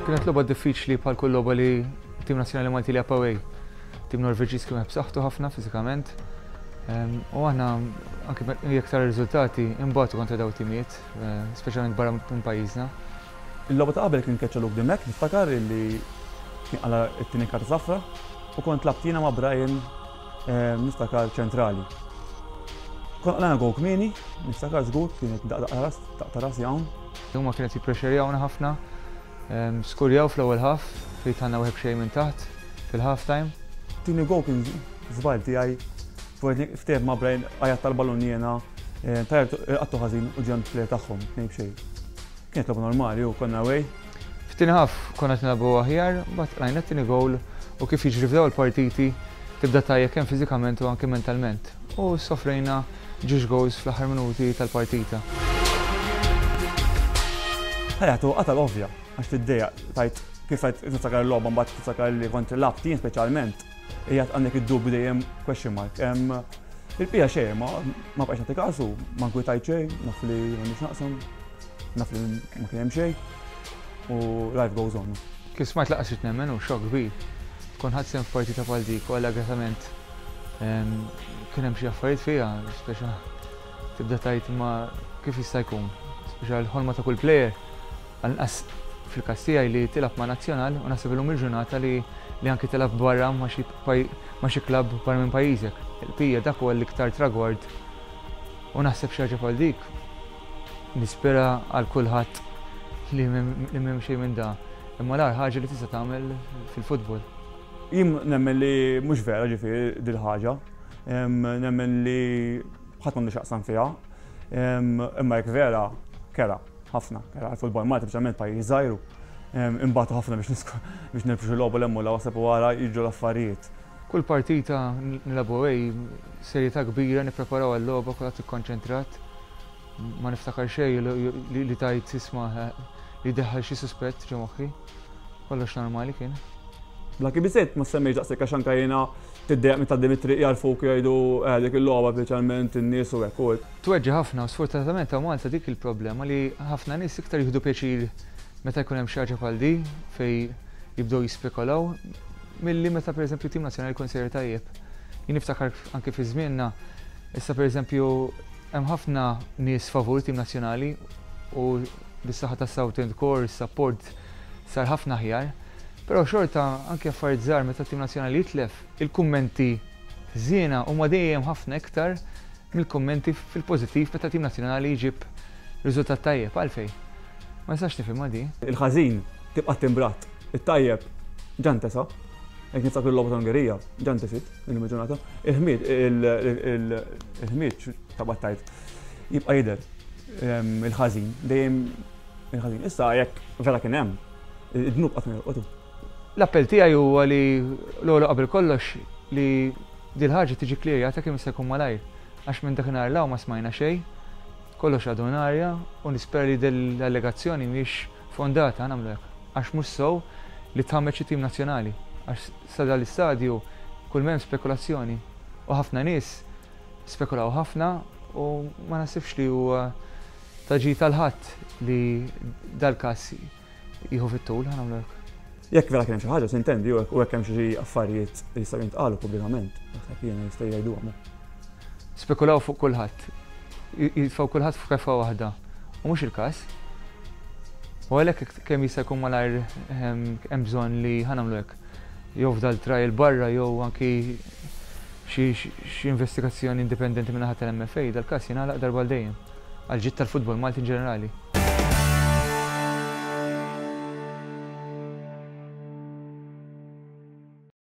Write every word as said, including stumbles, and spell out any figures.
Kienet logħba diffiċli bħal kull logħba li tim nazzjonali Malti li away. Tim Norveġiż kien b'saħħtu ħafna fiżikament. U aħna anke jekk tara riżultati imbagħtu kontra daw timijiet, eh, speċjalment barra minn pajjiżna. Il-logħba ta' qabel kien keċċa Luke Dimech, niftakar illi kien qala' t-tieni karta safra u kont lgħabt jiena ma' Brian, niftakar, ċentrali. Kont qlajna gowl kmieni, niftakar żgur kienet daqqa ras, daqqa ras hawn. Huma kienet jipprexxerjawna ħafna, skurjaw fl-ewwel half, fejn għandna wieħed xejn minn taħt fil-half time. Tieni gowl kien żball tiegħi, ftehim ma' Brian għajat tal-ballun jiena, tajr għattu ħażin u ġan player tagħhom, tnejn b'xejn. Kienet logħba normali u konna away. F'tieni half konna nilagħbu aħjar, but rajna t-tieni gowl u kif jiġri f'daw il-partiti tibda tajja kemm fiżikament u anke mentalment. U sofrejna ġiex goals fl-aħħar minuti tal-partita. Ħajja, tu qatal ovvja, għax tiddejjaq, tajt kif tajt niftakar il-logħba, mbagħad tiftakar li kont lgħabt jien speċjalment, hija għandek id-dubju dejjem, question mark. Il-bija xejn, ma ma bqajx nagħti kasu, ma nkwitajt xejn, naf li m'għandix naqsam, naf li ma kien hemm xejn u life goes on. Kif smajt lanqas ridt nemmen, u xokk kbir. Tkun ħadt sehem f'partita bħal dik u allegatament kien hemm xi affarijiet fiha, speċa tibda tajt ma kif jista' jkun. Speċa l-ħolma ta' kull player, għal-inqas fil-każ tiegħi, li tilgħab ma' nazzjonal u naħseb illum il-ġurnata li li anki tilgħab barra ma' xi ma' xi klabb barra minn pajjiżek. Il-pija dak huwa l-iktar tragward u naħseb xi ħaġa bħal dik nispera għal kulħadd li m'hemm xejn minn da. Imma l ħaġa li tista' tagħmel fil-futbol. Jien nemmen li mhux vera, ġifieri dil-ħaġa. Nemmen li ħadd m'għandu x'jaqsam fiha. Imma jekk vera, kera, ħafna, kera għal-futbol Malti, speċjalment pajjiż żgħir. Imbagħtu ħafna biex biex nirbħu xi logħba l la wasab wara jiġu l-affarijiet. Kull partita nilagħbu away, serjetà kbira, nippreparaw għal-logħba, kulħadd ikkonċentrat. Ma niftakar xejn li tajt isma' li deħħal xi suspett ġo moħħi. Kollox normali kien. Bla biżejt ma semmejx daqshekk għax anke jiena tiddejjaq minn tgħaddi mit-triq jarfuk, jgħidu eh, dik il-logħba, speċjalment in-nies u hekk u Tweġġa ħafna u sfortunatament ta' Malta dik il-problema li ħafna nies iktar jieħdu pjaċir meta jkun hemm xi ħaġa bħal di fej jibdew jispekulaw milli meta, pereżempju, tim nazzjonali jkun sejjer tajjeb. Jien niftakar anke fi żmienna, issa, pereżempju, hemm ħafna nies favur tim nazzjonali u bis-saħħa tas South End Core, support sar ħafna aħjar. Però xorta anke affarijiet żgħar, meta tim nazzjonali jitlef, il-kummenti ħżiena huma dejjem ħafna iktar mill-kummenti fil-pożittiv meta tim nazzjonali jġib riżultat tajjeb. Għalfejn? Ma nistax nifhimha di. Il-ħażin tibqa' timbrat, it-tajjeb ġa ntesa. Jekk niftakru l-logħba ta' Ungerija, ġa ntesiet il-ġurnata. Il-ħmied, il-ħmied ta' battajt jibqa' jidher il-ħażin, dejjem il-ħażin. Issa jekk vera kien hemm, id-dnub qatt ma jorqotu. L-appell tiegħi huwa li l-ewwel qabel kollox li dil ħaġa tiġi klirjata kemm jista' jkun malajr. Għax minn dakinhar 'l hawn ma smajna xejn, kollox għadu arja u nispera li dell-allegazzjoni mhix fondata, nagħmlu hekk. Għax mhux sew li tħammeġ it-tim nazzjonali. Għax sa dal-istadju kull m'hemm spekulazzjoni u ħafna nies spekulaw ħafna u ma nasibx li huwa ta' ġid tal-ħadd li dal-każ jieħu fit-tul, ħa nagħmlu hekk. Jekk vera kien hemm xi ħaġa, sintendi, u hekk hemm xi affarijiet li jistgħu jintqalu pubblikament, naħseb jiena jistgħu jgħiduhom. Spekulaw fuq kulħadd. Jitfgħu kulħadd f'kefa waħda. U mhux il-każ. U għalhekk kemm jista' jkun malajr hemm bżonn li ħa nagħmlu hekk. Jew f'dal trial barra jew anki xi investigazzjoni indipendenti minn naħa tal-M F A, dal-każ jingħalaq darba għal dejjem. Għal ġid tal-futbol Malti in ġenerali.